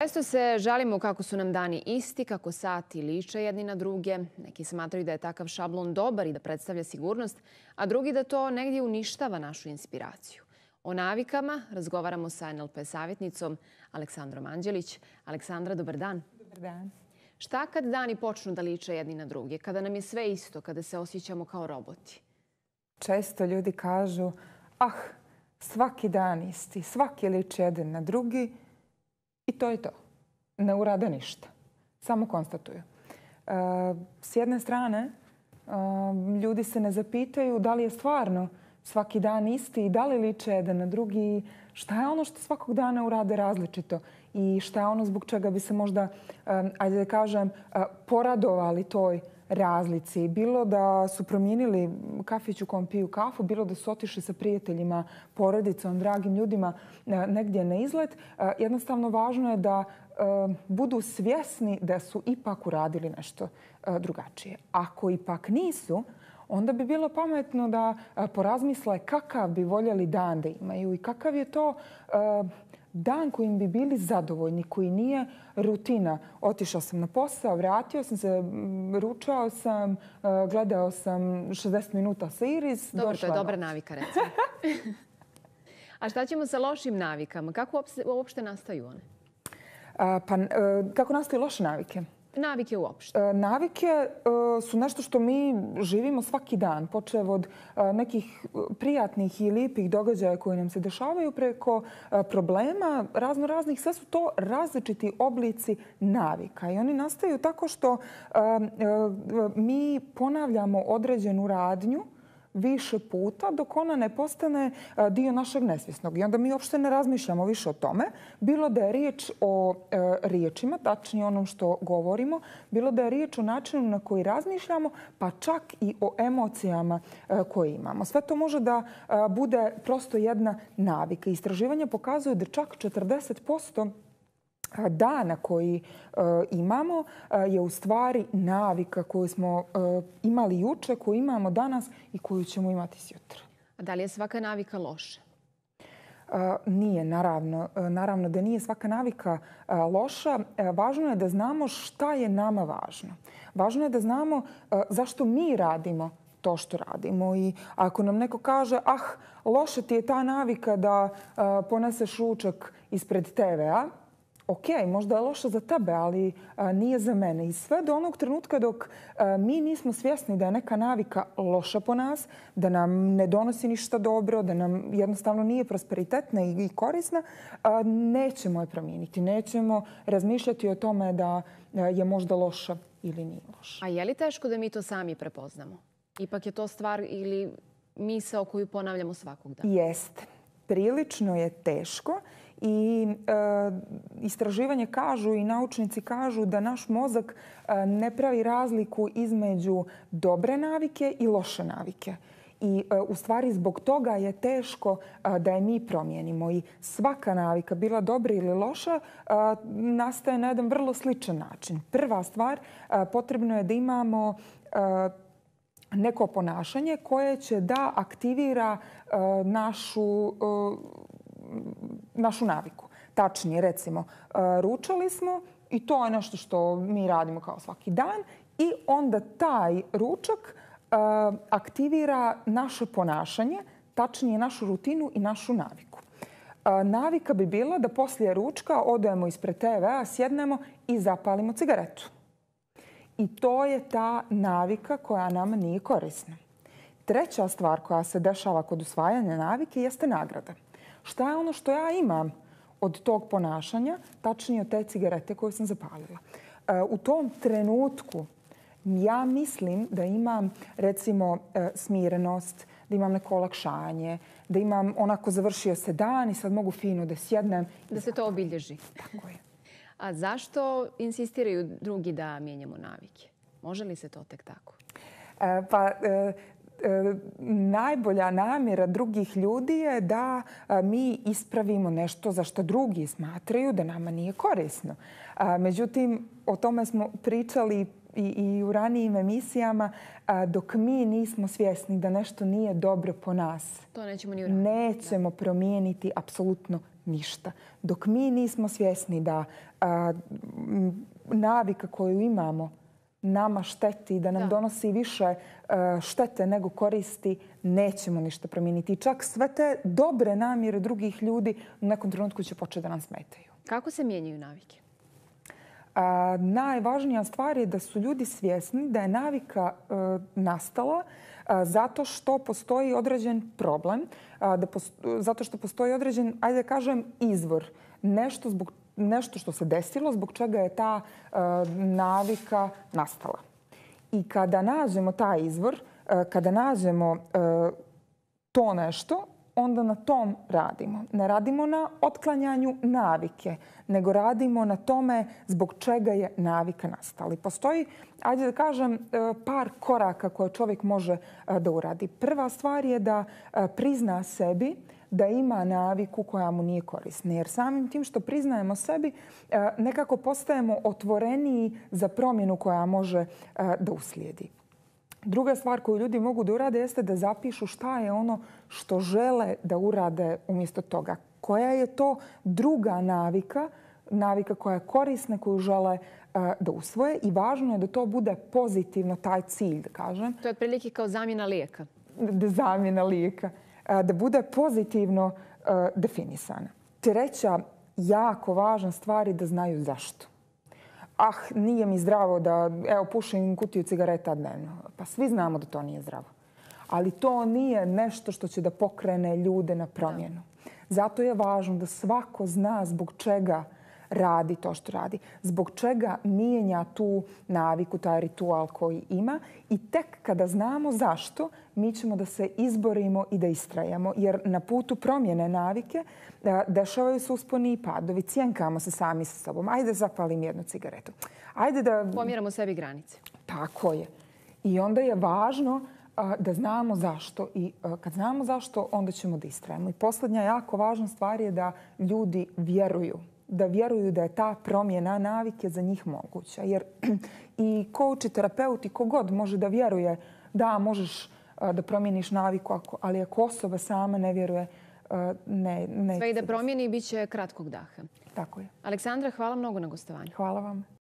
Često se žalimo kako su nam dani isti, kako sati liče jedni na druge. Neki smatraju da je takav šablon dobar i da predstavlja sigurnost, a drugi da to negdje uništava našu inspiraciju. O navikama razgovaramo sa NLP savjetnicom Aleksandrom Anđelić. Aleksandra, dobar dan. Dobar dan. Šta kad dani počnu da liče jedni na druge? Kada nam je sve isto, kada se osjećamo kao roboti? Često ljudi kažu, svaki dan isti, svaki liči jedan na drugi i to je to. Ne urade ništa. Samo konstatuju. S jedne strane, ljudi se ne zapitaju da li je stvarno svaki dan isti i da li liče jedan na drugi. Šta je ono što svakog dana urade različito i šta je ono zbog čega bi se možda, ajde da kažem, poradovali toj razlici. Bilo da su promijenili kafić u kom piju kafu, bilo da su otišli sa prijateljima, porodicom, dragim ljudima negdje na izlet. Jednostavno važno je da budu svjesni da su ipak uradili nešto drugačije. Ako ipak nisu, onda bi bilo pametno da porazmisle kakav bi voljeli dan da imaju i kakav je to dan kojim bi bili zadovoljni, koji nije rutina. Otišao sam na posao, vratio sam se, ručao sam, gledao sam 60 minuta series. Dobro, to je dobra navika, recimo. A šta ćemo sa lošim navikama? Kako uopšte nastaju one? Kako nastaju loše navike? Navike uopšte. Navike su nešto što mi živimo svaki dan, počev od nekih prijatnih i lijepih događaja koji nam se dešavaju preko problema raznih. Sve su to različiti oblici navika i oni nastaju tako što mi ponavljamo određenu radnju više puta dok ona ne postane dio našeg nesvjesnog. I onda mi uopšte ne razmišljamo više o tome. Bilo da je riječ o riječima, tačnije onom što govorimo, bilo da je riječ o načinu na koji razmišljamo, pa čak i o emocijama koje imamo. Sve to može da bude prosto jedna navika. Istraživanja pokazuju da čak 40% dana koji imamo je u stvari navika koju smo imali juče, koju imamo danas i koju ćemo imati sutra. A da li je svaka navika loša? Nije, naravno. Naravno da nije svaka navika loša. Važno je da znamo šta je nama važno. Važno je da znamo zašto mi radimo to što radimo. I ako nam neko kaže, loša ti je ta navika da poneseš ručak ispred TV-a, ok, možda je loša za tebe, ali nije za mene. I sve do onog trenutka dok mi nismo svjesni da je neka navika loša po nas, da nam ne donosi ništa dobro, da nam jednostavno nije prosperitetna i korisna, nećemo je promijeniti. Nećemo razmišljati o tome da je možda loša ili nije loša. A je li teško da mi to sami prepoznamo? Ipak je to stvar ili misao koju ponavljamo svakog dana? Jeste. Prilično je teško. I istraživanje kažu i naučnici kažu da naš mozak ne pravi razliku između dobre navike i loše navike. I u stvari zbog toga je teško da je mi promijenimo. I svaka navika, bila dobra ili loša, nastaje na jedan vrlo sličan način. Prva stvar, potrebno je da imamo neko ponašanje koje će da aktivira našu naviku. Tačnije, recimo, ručali smo i to je nešto što mi radimo kao svaki dan i onda taj ručak aktivira naše ponašanje, tačnije našu rutinu i našu naviku. Navika bi bila da poslije ručka odemo ispred TV-a, sjednemo i zapalimo cigaretu. I to je ta navika koja nam nije korisna. Treća stvar koja se dešava kod usvajanja navike jeste nagrada. Šta je ono što ja imam od tog ponašanja, tačnije od te cigarete koju sam zapalila? U tom trenutku ja mislim da imam, recimo, smirenost, da imam neko olakšanje, da imam onako završio se dan i sad mogu fino da sjednem. Da se to obilježi. Tako je. A zašto insistiraju drugi da mijenjamo navike? Može li se to tek tako? Najbolja namjera drugih ljudi je da mi ispravimo nešto za što drugi smatraju da nama nije korisno. Međutim, o tome smo pričali i u ranijim emisijama, dok mi nismo svjesni da nešto nije dobro po nas. To nećemo ni uraditi. Nećemo promijeniti apsolutno ništa. Dok mi nismo svjesni da navika koju imamo nama šteti, da nam donosi više štete nego koristi, nećemo ništa promijeniti. I čak sve te dobre namjere drugih ljudi u nekom trenutku će početi da nam smetaju. Kako se mijenjaju navike? Najvažnija stvar je da su ljudi svjesni da je navika nastala zato što postoji određen problem, zato što postoji određen, ajde da kažem, izvor. Nešto što se desilo zbog čega je ta navika nastala. I kada nađemo taj izvor, kada nađemo to nešto, onda na tom radimo. Ne radimo na otklanjanju navike, nego radimo na tome zbog čega je navika nastala. I postoji, ajde da kažem, par koraka koje čovjek može da uradi. Prva stvar je da prizna sebi da ima naviku koja mu nije korisna. Jer samim tim što priznajemo sebi, nekako postajemo otvoreniji za promjenu koja može da uslijedi. Druga stvar koju ljudi mogu da urade jeste da zapišu šta je ono što žele da urade umjesto toga. Koja je to druga navika koja je korisna, koju žele da usvoje. I važno je da to bude pozitivno, taj cilj, da kažem. To je otprilike kao zamjena lijeka. Zamjena lijeka. Da bude pozitivno definisana. Treća jako važna stvar je da znaju zašto. Nije mi zdravo da pušim kutiju cigareta dnevno. Pa svi znamo da to nije zdravo. Ali to nije nešto što će da pokrene ljude na promjenu. Zato je važno da svako zna zbog čega radi to što radi. Zbog čega mijenja tu naviku, taj ritual koji ima. I tek kada znamo zašto, mi ćemo da se izborimo i da istrajemo. Jer na putu promjene navike dešavaju se usponi i padovi. Cjenkamo se sami sa sobom. Ajde zapalim jednu cigaretu. Ajde da pomjeramo sebi granice. Tako je. I onda je važno da znamo zašto. I kad znamo zašto, onda ćemo da istrajemo. I posljednja jako važna stvar je da ljudi vjeruju. Da vjeruju da je ta promjena navike za njih moguća. Jer i coach i terapeut i kogod može da vjeruje da možeš da promijeniš naviku, ali ako osoba sama ne vjeruje, ne. Sve i da promijeni, bit će kratkog daha. Tako je. Aleksandra, hvala mnogo na gostovanju. Hvala vam.